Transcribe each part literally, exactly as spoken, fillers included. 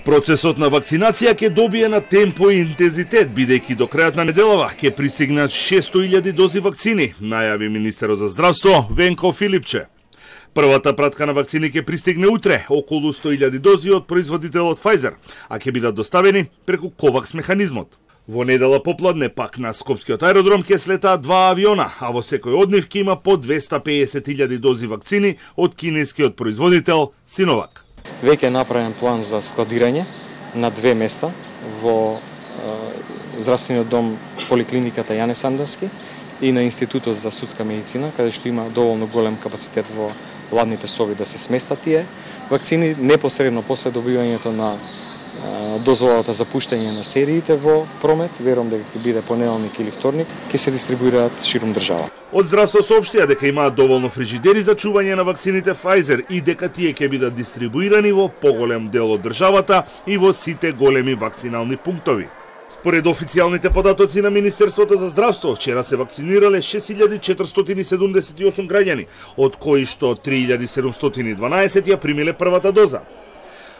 Процесот на вакцинација ќе добие на темпо и интензитет, бидејќи до крајот на неделава ќе пристигнат шесто илјади дози вакцини, најави министерот за здравство Венко Филипче. Првата пратка на вакцини ќе пристигне утре, околу сто илјади дози од производителот Pfizer, а ќе бидат доставени преку Ковакс механизмот. Во недела попладне пак на Скопскиот аеродром ќе слетаат два авиона, а во секој од нив ќе има по двесте и педесет илјади дози вакцини од кинескиот производител Синовак. Веќе е направен план за складирање на две места во е, здравствениот дом поликлиниката Јане Сандански и на Институтот за судска медицина, каде што има доволно голем капацитет во ладните соби да се сместат тие вакцини. Непосредно после добивањето на е, дозволата за пуштање на сериите во промет, верувам дека ќе биде понеделник или вторник, ќе се дистрибуираат ширум држава. Од здравство соопштија дека имаат доволно фрижидери за чување на вакцините Pfizer и дека тие ќе бидат дистрибуирани во поголем дел од државата и во сите големи вакцинални пунктови. Според официјалните податоци на Министерството за здравство, вчера се вакцинирале шест илјади четиристотини седумдесет и осум граѓани, од кои што три илјади седумстотини и дванаесет ја примиле првата доза.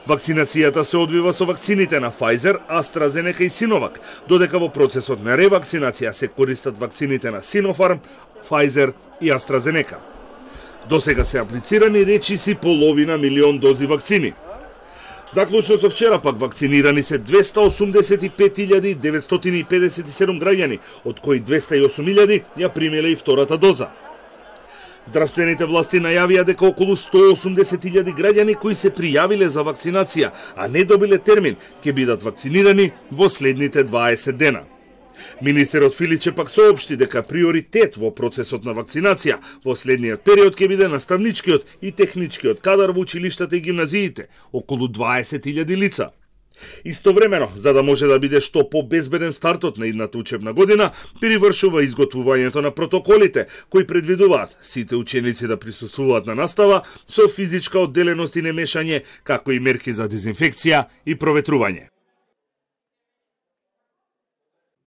Вакцинацијата се одвива со вакцините на Pfizer, AstraZeneca и Sinovac, додека во процесот на ревакцинација се користат вакцините на Sinopharm, Pfizer и AstraZeneca. До сега се аплицирани речиси половина милион дози вакцини. Заклучно со вчера пак вакцинирани се двесте осумдесет и пет илјади деветстотини и педесет и седум граѓани, од кои двесте и осум илјади ја примиле и втората доза. Здравствените власти најавија дека околу сто осумдесет илјади граѓани кои се пријавиле за вакцинација, а не добиле термин, ќе бидат вакцинирани во следните дваесет дена. Министерот Филиче пак соопшти дека приоритет во процесот на вакцинација во следниот период ќе биде наставничкиот и техничкиот кадар во училиштата и гимназиите, околу дваесет илјади лица. Истовремено, за да може да биде што по-безбеден стартот на идната учебна година, привршува изготвувањето на протоколите, кои предвидуваат сите ученици да присуствуваат на настава со физичка одделеност и немешање, како и мерки за дезинфекција и проветрување.